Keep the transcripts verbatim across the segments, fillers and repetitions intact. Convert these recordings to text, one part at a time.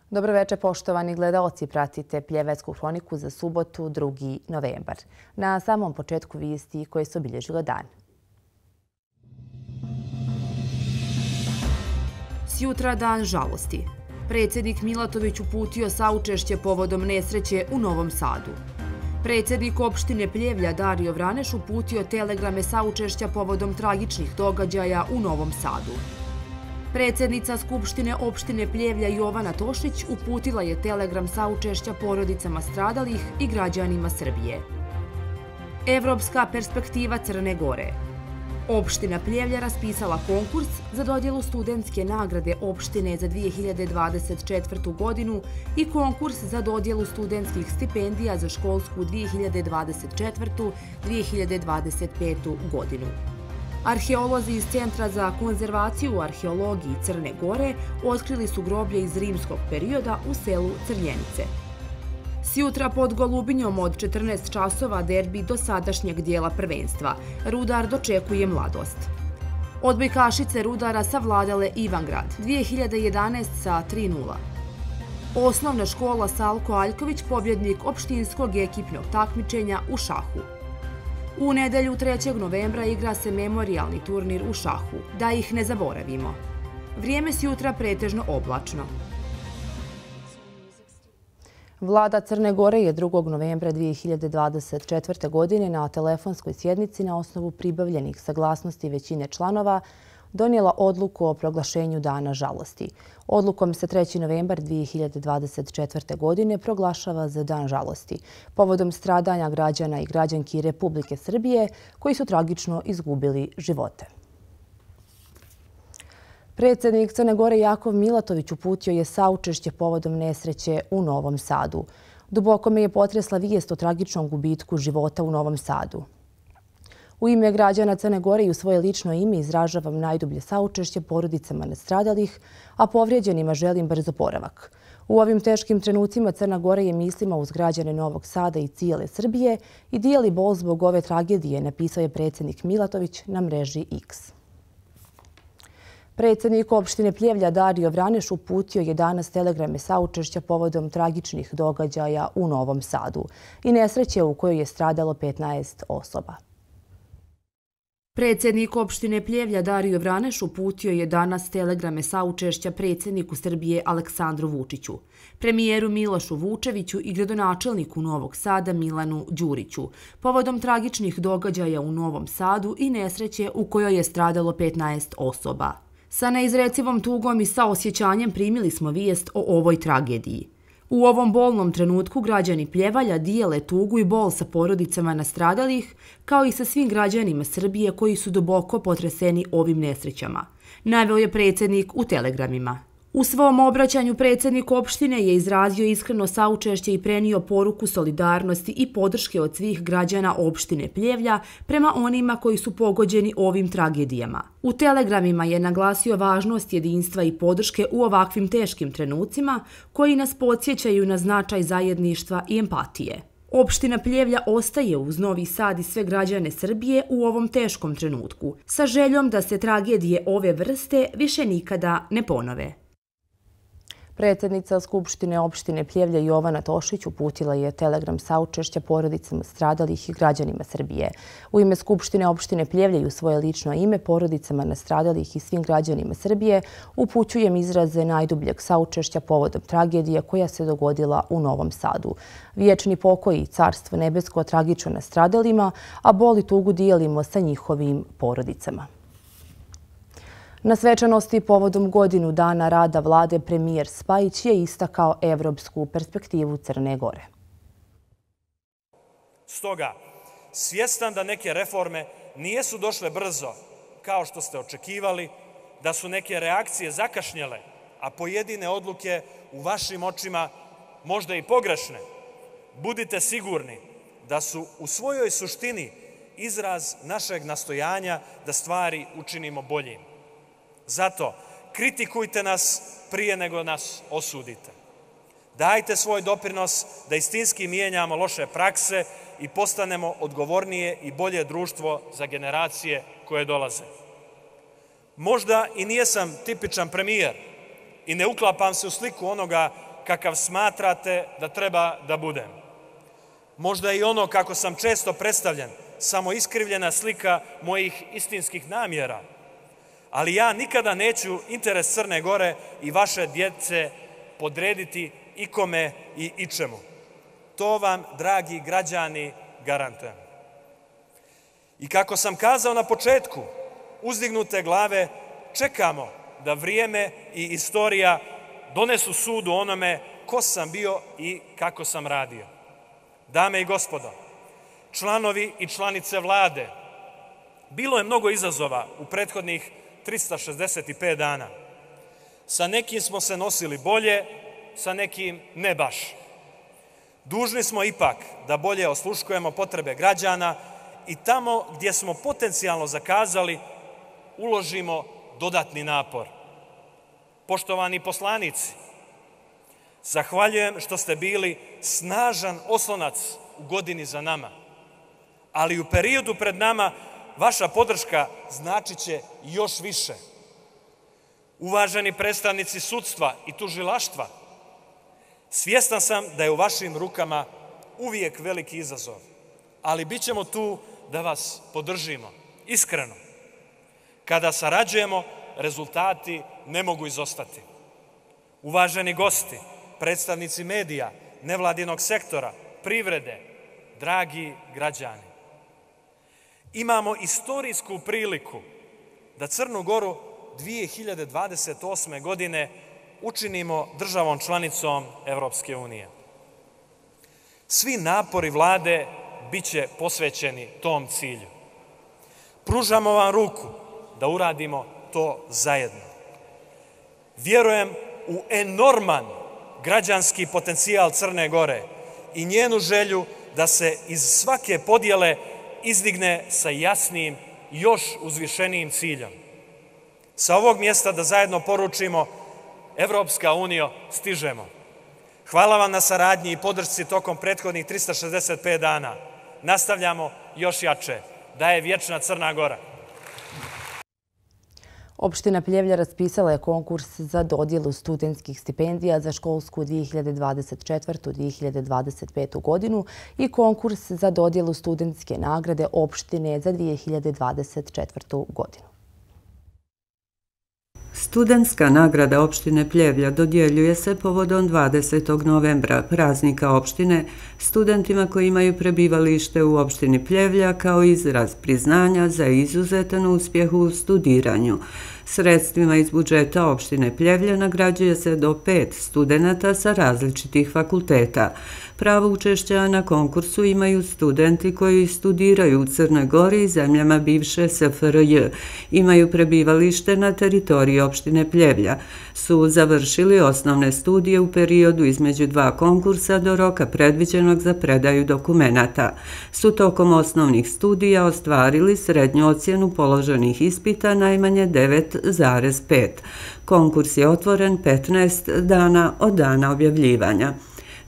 Dobro večer, poštovani gledaoci. Pratite Pljevecku hroniku za subotu, drugi novembar. Na samom početku vijesti koje su obilježile dan. Sjutra dan žalosti. Predsjednik Milatović uputio saučešće povodom nesreće u Novom Sadu. Predsjednik opštine Pljevlja Dario Vraneš uputio telegrame saučešća povodom tragičnih događaja u Novom Sadu. Predsjednica Skupštine opštine Pljevlja Jovana Tošić uputila je telegram saučešća porodicama stradalih i građanima Srbije. Evropska perspektiva Crne Gore. Opština Pljevlja raspisala konkurs za dodjelu studentske nagrade opštine za dvije hiljade dvadeset četvrtu. godinu i konkurs za dodjelu studentskih stipendija za školsku dvije hiljade dvadeset četvrtu. do dvije hiljade dvadeset petu. godinu. Arheolozi iz Centra za konzervaciju u arheologiji Crne Gore otkrili su groblje iz rimskog perioda u selu Crnjenice. Sjutra pod Golubinjom od četrnaest časova derbi do sadašnjeg dijela prvenstva. Rudar dočekuje Mladost. Odbojkašice Rudara savladale Ivangrad dvije hiljade jedanaeste. sa tri nula. Osnovna škola Salko Aljković pobjednik opštinskog ekipnog takmičenja u šahu. U nedelju trećeg novembra igra se memorijalni turnir u šahu. Da ih ne zaboravimo. Vrijeme sjutra pretežno oblačno. Vlada Crne Gore je drugog novembra dvije hiljade dvadeset četvrte. godine na telefonskoj sjednici na osnovu pribavljenih saglasnosti većine članova donijela odluku o proglašenju Dana žalosti. Odlukom se treći novembar dvije hiljade dvadeset četvrte. godine proglašava za Dan žalosti povodom stradanja građana i građanki Republike Srbije koji su tragično izgubili živote. Predsjednik Crne Gore Jakov Milatović uputio je saučešće povodom nesreće u Novom Sadu. Duboko me je potresla vijest o tragičnom gubitku života u Novom Sadu. U ime građana Crne Gore i u svoje lično ime izražavam najdublje saučešće porodicama nastradalih, a povrijeđenima želim brz oporavak. U ovim teškim trenucima Crna Gora je mislima uz građane Novog Sada i cijele Srbije i dijeli bol zbog ove tragedije, napisao je predsjednik Milatović na mreži X. Predsjednik opštine Pljevlja Dario Vraneš uputio je danas telegrame saučešća povodom tragičnih događaja u Novom Sadu i nesreće u kojoj je stradalo petnaest osoba. Predsjednik opštine Pljevlja Dario Vraneš uputio je danas telegrame saučešća predsjedniku Srbije Aleksandru Vučiću, premijeru Milošu Vučeviću i gradonačelniku Novog Sada Milanu Đuriću povodom tragičnih događaja u Novom Sadu i nesreće u kojoj je stradalo petnaest osoba. Sa neizrecivom tugom i saosjećanjem primili smo vijest o ovoj tragediji. U ovom bolnom trenutku građani Pljevalja dijele tugu i bol sa porodicama nastradalih, kao i sa svim građanima Srbije koji su duboko potreseni ovim nesrećama, naveo je predsjednik u telegramima. U svom obraćanju predsjednik opštine je izrazio iskreno saučešće i prenio poruku solidarnosti i podrške od svih građana opštine Pljevlja prema onima koji su pogođeni ovim tragedijama. U telegramima je naglasio važnost jedinstva i podrške u ovakvim teškim trenucima koji nas podsjećaju na značaj zajedništva i empatije. Opština Pljevlja ostaje uz Novi Sad i sve građane Srbije u ovom teškom trenutku, sa željom da se tragedije ove vrste više nikada ne ponove. Predsjednica Skupštine opštine Pljevlja Jovana Tošić uputila je telegram saučešća porodicama stradalih i građanima Srbije. U ime Skupštine opštine Pljevlja i u svoje lično ime porodicama nastradalih i svim građanima Srbije upućujem izraze najdubljeg saučešća povodom tragedije koja se dogodila u Novom Sadu. Vječni pokoj i carstvo nebesko tragično nastradalima, a bol i tugu dijelimo sa njihovim porodicama. Na svečanosti povodom godinu dana rada vlade premijer Spajić je istakao evropsku perspektivu Crne Gore. Stoga, svjestan da neke reforme nijesu došle brzo kao što ste očekivali, da su neke reakcije zakašnjele, a pojedine odluke u vašim očima možda i pogrešne, budite sigurni da su u svojoj suštini izraz našeg nastojanja da stvari učinimo boljim. Zato kritikujte nas prije nego nas osudite. Dajte svoj doprinos da istinski mijenjamo loše prakse i postanemo odgovornije i bolje društvo za generacije koje dolaze. Možda i nijesam tipičan premijer i ne uklapam se u sliku onoga kakav smatrate da treba da budem. Možda i ono kako sam često predstavljen, samo iskrivljena slika mojih istinskih namjera, ali ja nikada neću interes Crne Gore i vaše djece podrediti ikome i ičemu. To vam, dragi građani, garantujem. I kako sam kazao na početku, uzdignute glave čekamo da vrijeme i istorija donesu sud o onome ko sam bio i kako sam radio. Dame i gospodo, članovi i članice vlade, bilo je mnogo izazova u prethodnih trista šezdeset pet dana. Sa nekim smo se nosili bolje, sa nekim ne baš. Dužni smo ipak da bolje osluškujemo potrebe građana i tamo gdje smo potencijalno zakazali uložimo dodatni napor. Poštovani poslanici, zahvaljujem što ste bili snažan oslonac u godini za nama, ali u periodu pred nama vaša podrška značit će još više. Uvaženi predstavnici sudstva i tužilaštva, svjestan sam da je u vašim rukama uvijek veliki izazov, ali bit ćemo tu da vas podržimo, iskreno. Kada sarađujemo, rezultati ne mogu izostati. Uvaženi gosti, predstavnici medija, nevladinog sektora, privrede, dragi građani, imamo istorijsku priliku da Crnu Goru dvije hiljade dvadeset osme. godine učinimo državom članicom Evropske unije. Svi napori vlade bit će posvećeni tom cilju. Pružamo vam ruku da uradimo to zajedno. Vjerujem u enorman građanski potencijal Crne Gore i njenu želju da se iz svake podjele izdigne sa jasnim, još uzvišenijim ciljem. Sa ovog mjesta da zajedno poručimo: Evropska unija, stižemo. Hvala vam na saradnji i podršci tokom prethodnih trista šezdeset pet dana. Nastavljamo još jače. Da je vječna Crna Gora. Opština Pljevlja raspisala je konkurs za dodjelu studentskih stipendija za školsku dvije hiljade dvadeset četvrtu. dvije hiljade dvadeset petu. godinu i konkurs za dodjelu studentske nagrade opštine za dvije hiljade dvadeset četvrtu. godinu. Studentska nagrada opštine Pljevlja dodjeljuje se povodom dvadesetog novembra, praznika opštine, studentima koji imaju prebivalište u opštini Pljevlja kao izraz priznanja za izuzetan uspjeh u studiranju. Sredstvima iz budžeta opštine Pljevlja nagrađuje se do pet studenata sa različitih fakulteta. Pravo učešća na konkursu imaju studenti koji studiraju u Crnoj Gori i zemljama bivše S F R J, imaju prebivalište na teritoriji opštine Pljevlja, su završili osnovne studije u periodu između dva konkursa do roka predviđenog za predaju dokumenata, su tokom osnovnih studija ostvarili srednju ocjenu položenih ispita najmanje devet zarez pet. Konkurs je otvoren petnaest dana od dana objavljivanja.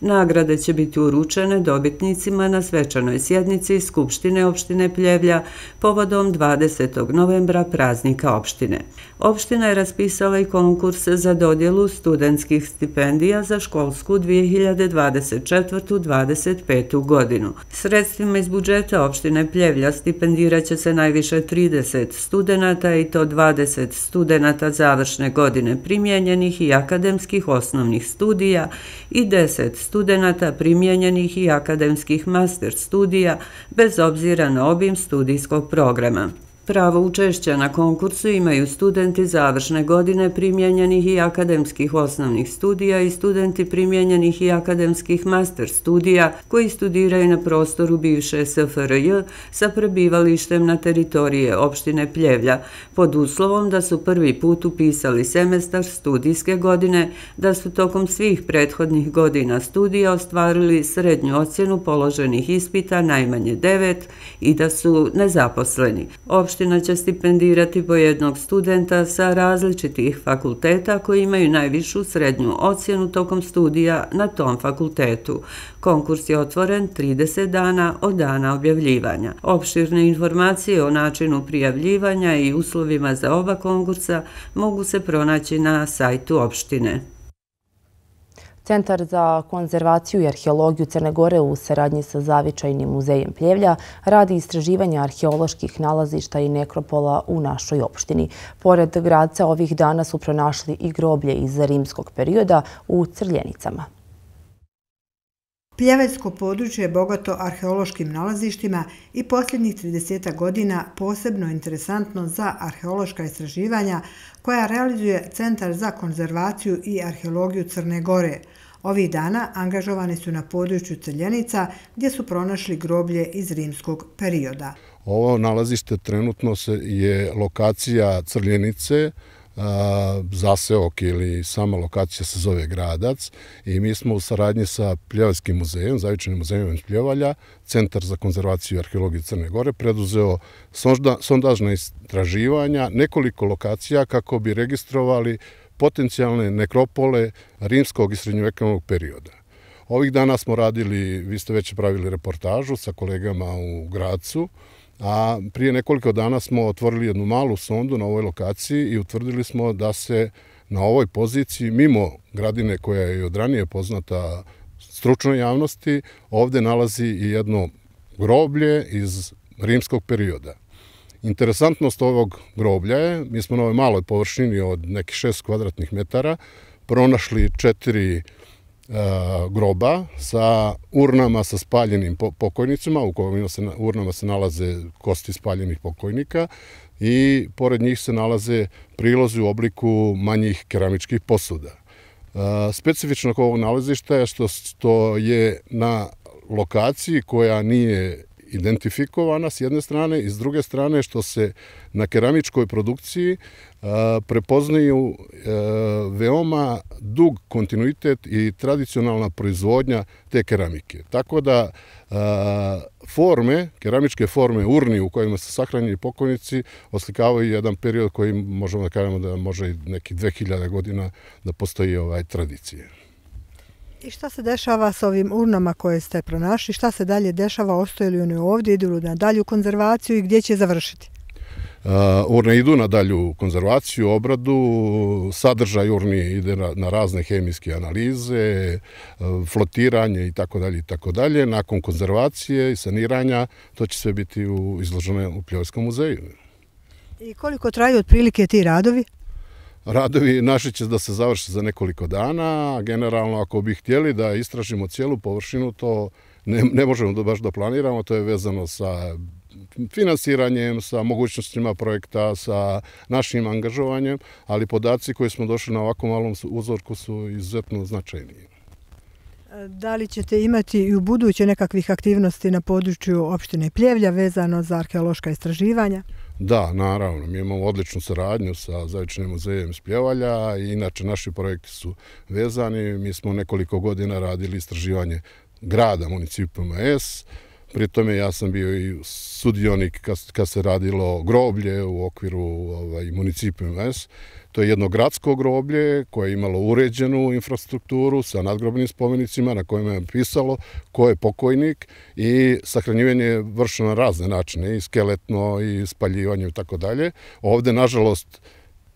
Nagrade će biti uručene dobitnicima na svečanoj sjednici Skupštine opštine Pljevlja povodom dvadesetog novembra, praznika opštine. Opština je raspisala i konkurs za dodjelu studentskih stipendija za školsku dvije hiljade dvadeset četvrtu. do dvadeset petu. godinu. Sredstvima iz budžeta opštine Pljevlja stipendirat će se najviše trideset studenata i to dvadeset studenata završne godine primijenjenih i akademskih osnovnih studija i deset studenata primijenjenih i akademskih master studija bez obzira na obim studijskog programa. Pravo učešća na konkursu imaju studenti završne godine primijenjenih i akademskih osnovnih studija i studenti primijenjenih i akademskih master studija koji studiraju na prostoru bivše S F R J sa prebivalištem na teritorije opštine Pljevlja, pod uslovom da su prvi put upisali semestar studijske godine, da su tokom svih prethodnih godina studija ostvarili srednju ocjenu položenih ispita najmanje devet i da su nezaposleni. Opština će stipendirati po jednog studenta sa različitih fakulteta koji imaju najvišu srednju ocjenu tokom studija na tom fakultetu. Konkurs je otvoren trideset dana od dana objavljivanja. Opširne informacije o načinu prijavljivanja i uslovima za oba konkursa mogu se pronaći na sajtu opštine. Centar za konzervaciju i arheologiju Crne Gore u saradnji sa Zavičajnim muzejem Pljevlja radi istraživanja arheoloških nalazišta i nekropola u našoj opštini. Pored Gradca ovih dana su pronašli i groblje iz rimskog perioda u Crljenicama. Pljevljsko područje je bogato arheološkim nalazištima i posljednjih trideset godina posebno interesantno za arheološka istraživanja koja realizuje Centar za konzervaciju i arheologiju Crne Gore. Ovih dana angažovani su na području Crljenica gdje su pronašli groblje iz rimskog perioda. Ovo nalazište trenutno je lokacija Crljenice, zaseok ili sama lokacija se zove Gradac i mi smo u saradnji sa Pljevljskim muzejom, Zavičajnim muzejom iz Pljevalja, Centar za konzervaciju i arheologiju Crne Gore, preduzeo sondažna istraživanja nekoliko lokacija kako bi registrovali potencijalne nekropole rimskog i srednjovekovnog perioda. Ovih dana smo radili, vi ste već pravili reportažu sa kolegama u Gradcu, a prije nekoliko dana smo otvorili jednu malu sondu na ovoj lokaciji i utvrdili smo da se na ovoj poziciji, mimo gradine koja je od ranije poznata stručnoj javnosti, ovdje nalazi i jedno groblje iz rimskog perioda. Interesantnost ovog groblja je, mi smo na ovoj maloj površini od nekih šest kvadratnih metara pronašli četiri groba sa urnama sa spaljenim pokojnicima, u kojim urnama se nalaze kosti spaljenih pokojnika i pored njih se nalaze prilozi u obliku manjih keramičkih posuda. Specifično ovog nalazišta je što je na lokaciji koja nije identifikovana s jedne strane i s druge strane što se na keramičkoj produkciji prepoznaju veoma dug kontinuitet i tradicionalna proizvodnja te keramike. Tako da forme, keramičke forme urni u kojima se sahranjeni pokojnici oslikavaju jedan period koji možemo da kažemo da može i nekih dve hiljade godina da postoji ovaj tradicije. I šta se dešava s ovim urnama koje ste pronašli? Šta se dalje dešava? Ostaju li oni ovdje? Idu li na dalju konzervaciju i gdje će završiti? Urne idu na dalju konzervaciju, obradu, sadržaj urni ide na razne hemijske analize, flotiranje i tako dalje i tako dalje. Nakon konzervacije i saniranja to će sve biti izloženo u Pljevljskom muzeju. I koliko traju otprilike ti radovi? Radovi naši će da se završe za nekoliko dana. Generalno, ako bi htjeli da istražimo cijelu površinu, to ne, ne možemo da baš da planiramo. To je vezano sa finansiranjem, sa mogućnostima projekta, sa našim angažovanjem, ali podaci koji smo došli na ovako malom uzorku su izuzetno značajni. Da li ćete imati i u buduće nekakvih aktivnosti na području opštine Pljevlja vezano za arheološka istraživanja? Da, naravno. Mi imamo odličnu saradnju sa Zavičajnim muzejem iz Pljevalja i inače naši projekti su vezani. Mi smo nekoliko godina radili istraživanje grada Municipum S. Pri tome ja sam bio i sudionik kad se radilo groblje u okviru ovaj, Municipum S. To je jedno gradsko groblje koje je imalo uređenu infrastrukturu sa nadgrobnim spomenicima na kojima je pisalo ko je pokojnik i sahranjivanje je vršeno na razne načine, i skeletno, i spaljivanje i tako dalje. Ovdje, nažalost,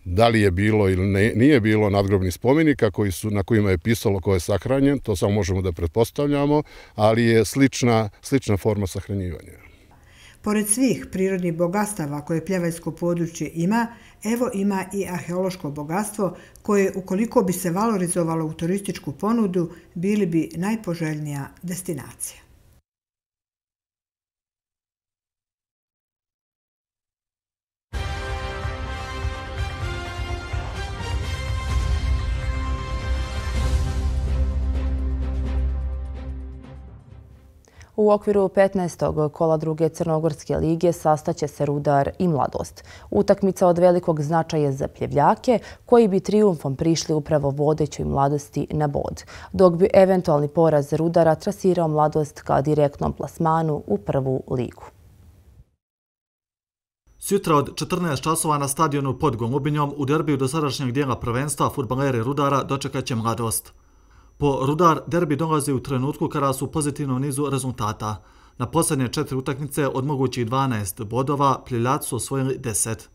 da li je bilo ili ne, nije bilo nadgrobnih spomenika koji su, na kojima je pisalo ko je sahranjen, to samo možemo da pretpostavljamo, ali je slična, slična forma sahranjivanja. Pored svih prirodnih bogatstava koje Pljevljsko područje ima, evo ima i arheološko bogatstvo koje, ukoliko bi se valorizovalo u turističku ponudu, bili bi najpoželjnija destinacija. U okviru petnaestog kola druge Crnogorske lige sastaće se Rudar i Mladost. Utakmica od velikog značaja za Pljevljake, koji bi trijumfom prišli upravo vodećoj Mladosti na bod, dok bi eventualni poraz Rudara trasirao Mladost ka direktnom plasmanu u prvu ligu. Sutra od četrnaest časova na stadionu pod Golubinjom u derbiju dosadašnjeg dijela prvenstva fudbaleri Rudara dočekaće Mladost. Po Rudar derbi dolazi u trenutku kada su u pozitivnom nizu rezultata. Na posljednje četiri utakmice od mogućih dvanaest bodova Pljevljaci su osvojili deset.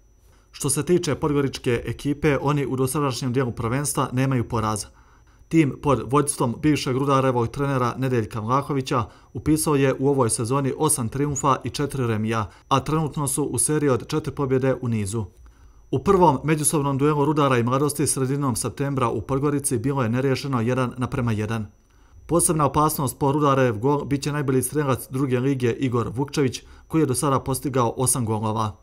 Što se tiče podgoričke ekipe, oni u dosadašnjem dijelu prvenstva nemaju poraza. Tim pod vođstvom bivšeg Rudarevog trenera Nedeljka Vlahovića upisao je u ovoj sezoni osam triumfa i četiri remija, a trenutno su u seriji od četiri pobjede u nizu. U prvom međusobnom duelu Rudara i Mladosti sredinom septembra u Podgorici bilo je neriješeno jedan naprema jedan. Posebna opasnost po Rudarev gol bit će najbolji strelac druge lige Igor Vukčević, koji je do sada postigao osam golova.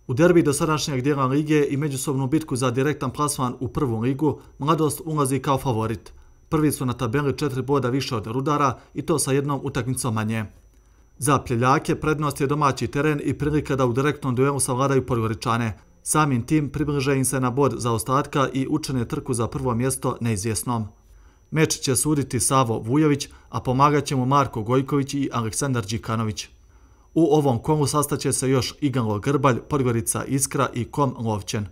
U derbi dosadašnjeg dijela lige i međusobnu bitku za direktan plasman u prvu ligu, Mladost ulazi kao favorit. Prvi su na tabeli četiri boda više od Rudara i to sa jednom utakmicom manje. Za Pljeljake prednost je domaći teren i prilika da u direktnom duelu savladaju Podgoričane. Samim tim približe im se na bod zaostatka i učine trku za prvo mjesto neizvjesnom. Meč će suditi Savo Vujović, a pomagat će mu Marko Gojković i Aleksandar Đikanović. U ovom kolu sastaće se još Igalo Grbalj, Podgorica Iskra i Kom Lovćen.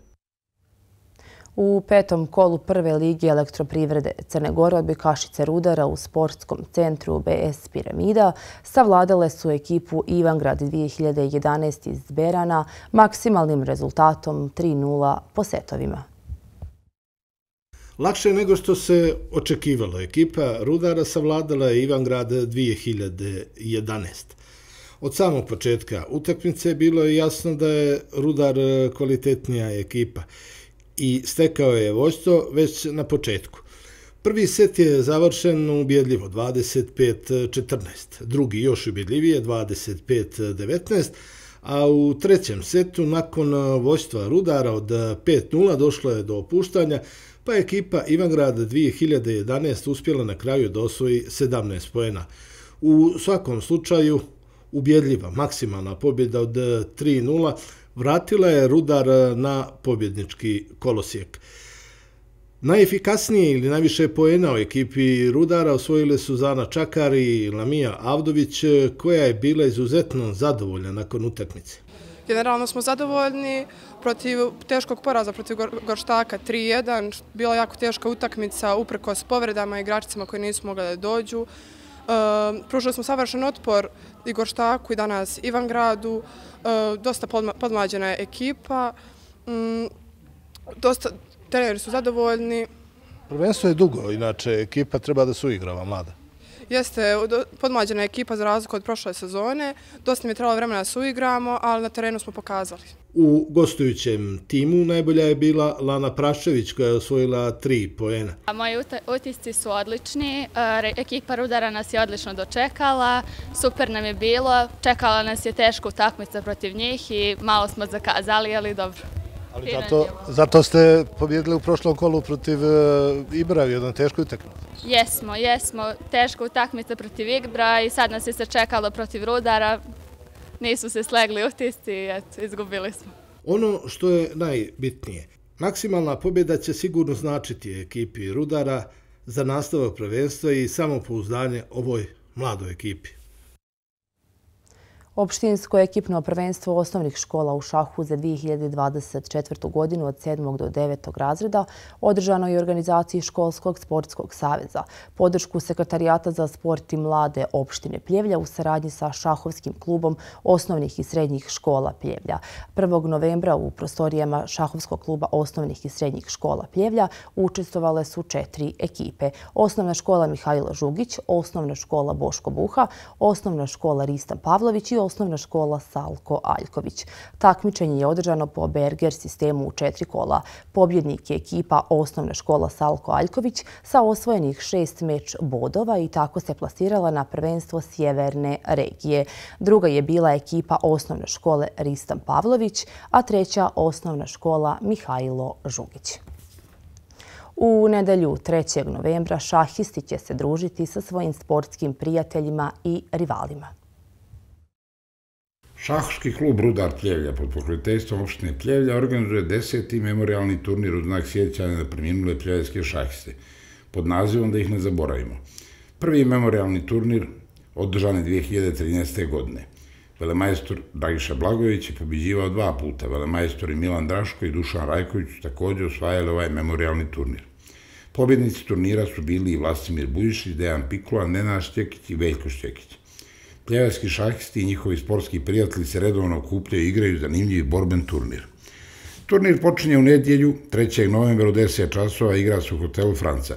U petom kolu prve lige Elektroprivrede Crne Gore odbojkašice Rudara u sportskom centru B S Piramida savladale su ekipu Ivangrad dvije hiljade jedanaeste iz Berana maksimalnim rezultatom tri nula po setovima. Lakše nego što se očekivalo. Ekipa Rudara savladala je Ivangrad dvije hiljade jedanaeste. Od samog početka utakmice bilo je jasno da je Rudar kvalitetnija ekipa i stekao je vođstvo već na početku. Prvi set je završen ubjedljivo dvadeset pet četrnaest, drugi još ubjedljivije dvadeset pet devetnaest, a u trećem setu nakon vođstva Rudara od pet nula došlo je do opuštanja, pa je ekipa Ivangrad dvije hiljade jedanaeste uspjela na kraju da osvoji sedamnaest poena. U svakom slučaju ubjedljiva maksimalna pobjeda od tri nula vratila je Rudar na pobjednički kolosijek. Najefikasnije ili najviše poena u ekipi Rudara osvojile su Zana Čakar i Lamija Avdović, koja je bila izuzetno zadovoljna nakon utakmice. Generalno smo zadovoljni protiv teškog poraza protiv Gorštaka tri jedan. Bila jako teška utakmica uprkos povredama i igračicama koji nisu mogli da dođu. Pružili smo savršen otpor i Gorštaku i danas Ivangradu. Dosta podmlađena je ekipa. Dosta treneri su zadovoljni. Prvenstvo je dugo, inače ekipa treba da se uigrava mlada. Jeste podmlađena ekipa za razliku od prošle sezone. Dosta mi je trebalo vremena da se uigramo, ali na terenu smo pokazali. U gostujućem timu najbolja je bila Lana Prašević koja je osvojila tri poena. Moji utisci su odlični, ekipa Rudara nas je odlično dočekala, super nam je bilo, čekala nas je teška utakmica protiv njih i malo smo zakazali, ali dobro. Ali zato, zato ste pobjedili u prošlom kolu protiv Ibra u jednoj teškoj utakmici. Jesmo, jesmo, teška utakmica protiv Ibra i sad nas je se čekalo protiv Rudara. Nisu se slegli utisci i eto, izgubili smo. Ono što je najbitnije, maksimalna pobjeda će sigurno značiti ekipi Rudara za nastavak prvenstva i samopouzdanje ovoj mladoj ekipi. Opštinsko ekipno prvenstvo osnovnih škola u šahu za dvije hiljade dvadeset četvrtu. godinu od sedmog do devetog razreda održano je u organizaciji Školskog sportskog saveza. Podršku Sekretarijata za sport i mlade opštine Pljevlja u saradnji sa šahovskim klubom osnovnih i srednjih škola Pljevlja. prvog novembra u prostorijama šahovskog kluba osnovnih i srednjih škola Pljevlja učestvovale su četiri ekipe. Osnovna škola Mihajlo Žugić, osnovna škola Boško Buha, osnovna škola Ristan Pavlović i osnovna škola Salko Aljković. Takmičenje je održano po Berger sistemu u četiri kola. Pobjednik je ekipa osnovna škola Salko Aljković sa osvojenih šest meč bodova i tako se plasirala na prvenstvo sjeverne regije. Druga je bila ekipa osnovne škole Ristan Pavlović, a treća osnovna škola Mihajlo Žugić. U nedelju trećeg novembra šahisti će se družiti sa svojim sportskim prijateljima i rivalima. Šahovski klub Rudar Pljevlja pod pokroviteljstvom opštine Pljevlja organizuje deseti memorialni turnir u znak sjećanja na preminule pljevljske šahiste pod nazivom Da ih ne zaboravimo. Prvi memorialni turnir održan je dvije hiljade trinaeste. godine. Velemajstor Dragiša Blagojević je pobjeđivao dva puta. Velemajstori Milan Draško i Dušan Rajković također osvajali ovaj memorialni turnir. Pobjednici turnira su bili i Vlastimir Bujišić, Dejan Pikula, Nenad Šćekić i Veljko Šćekić. Pljevljski šahisti i njihovi sportski prijatelji se redovno okupljaju i igraju zanimljiv borben turnir. Turnir počinje u nedjelju trećeg novembra u deset časova, igra se u hotelu Franca.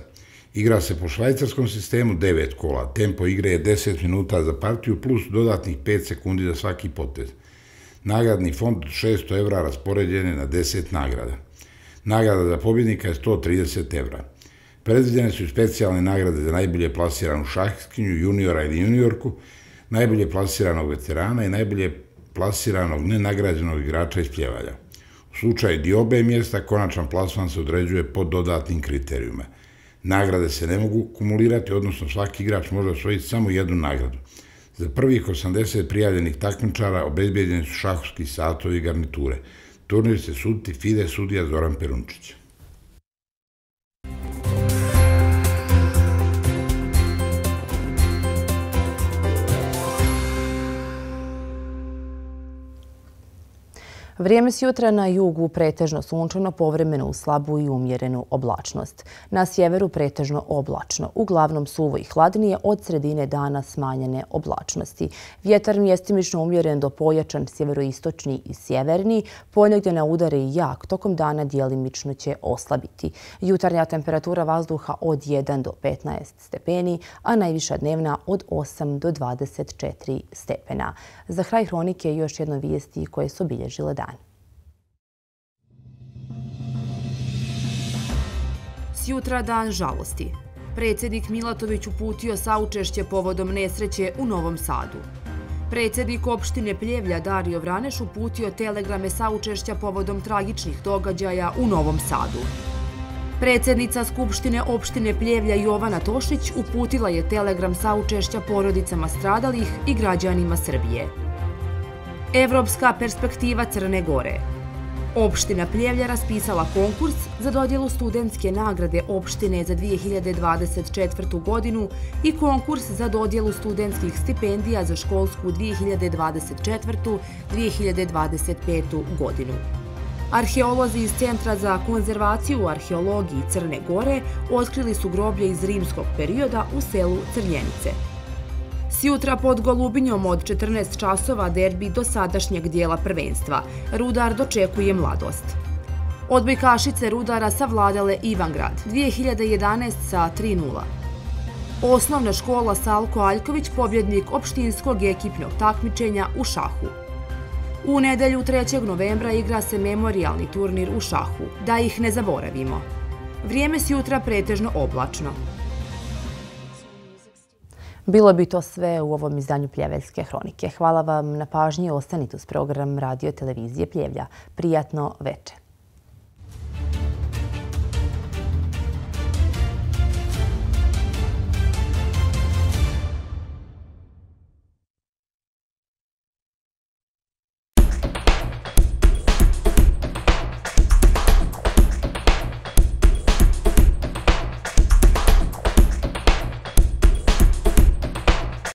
Igra se po švajcarskom sistemu devet kola. Tempo igre je deset minuta za partiju plus dodatnih pet sekundi za svaki potez. Nagradni fond od šesto evra raspoređen je na deset nagrada. Nagrada za pobjednika je sto trideset evra. Predviđene su specijalne nagrade za najbolje plasiranu šahskinju, juniora ili juniorku, najbolje plasiranog veterana i najbolje plasiranog nenagrađenog igrača iz Pljevalja. U slučaju diobe mjesta, konačan plasman se određuje pod dodatnim kriterijuma. Nagrade se ne mogu kumulirati, odnosno svaki igrač može osvojiti samo jednu nagradu. Za prvih osamdeset prijavljenih takmičara obezbijeđeni su šahovski satovi i garniture. Turnir će suditi FIDE sudija Zoran Perunčić. Vrijeme s jutra na jugu pretežno sunčano, povremeno u slabu i umjerenu oblačnost. Na sjeveru pretežno oblačno, uglavnom suvo i hladnije, od sredine dana smanjene oblačnosti. Vjetar mjestimično umjeren do pojačan sjeveroistočni i sjeverni, ponegdje na udare i jak, tokom dana djelimično će oslabiti. Jutarnja temperatura vazduha od jedan do petnaest stepeni, a najviša dnevna od osam do dvadeset četiri stepena. Za kraj hronike još jedno vijesti koje su obilježile dan. Sjutra dan žalosti. Predsjednik Milatović uputio saučešće povodom nesreće u Novom Sadu. Predsjednik opštine Pljevlja Dario Vraneš uputio telegrame saučešća povodom tragičnih događaja u Novom Sadu. Predsjednica Skupštine opštine Pljevlja Jovana Tošić uputila je telegram saučešća porodicama stradalih i građanima Srbije. Evropska perspektiva Crne Gore. Opština Pljevlja raspisala konkurs za dodjelu studentske nagrade opštine za dvije hiljade dvadeset četvrtu. godinu i konkurs za dodjelu studentskih stipendija za školsku dvije hiljade dvadeset četvrtu. do dvije hiljade dvadeset petu. godinu. Arheolozi iz Centra za konzervaciju arheologiji Crne Gore otkrili su groblje iz rimskog perioda u selu Crnjenice. Sjutra pod Golubinjom od četrnaest časova derbi do sadašnjeg dijela prvenstva. Rudar dočekuje Mladost. Odbojkašice Rudara savladale Ivangrad dvije hiljade jedanaeste. sa tri nula. Osnovna škola Salko Aljković pobjednik opštinskog ekipnog takmičenja u šahu. U nedelju trećeg novembra igra se memorijalni turnir u šahu. Da ih ne zaboravimo. Vrijeme sjutra pretežno oblačno. Bilo bi to sve u ovom izdanju Pljeveljske hronike. Hvala vam na pažnji. Ostanite uz program Radio Televizije Pljevlja. Prijatno večer.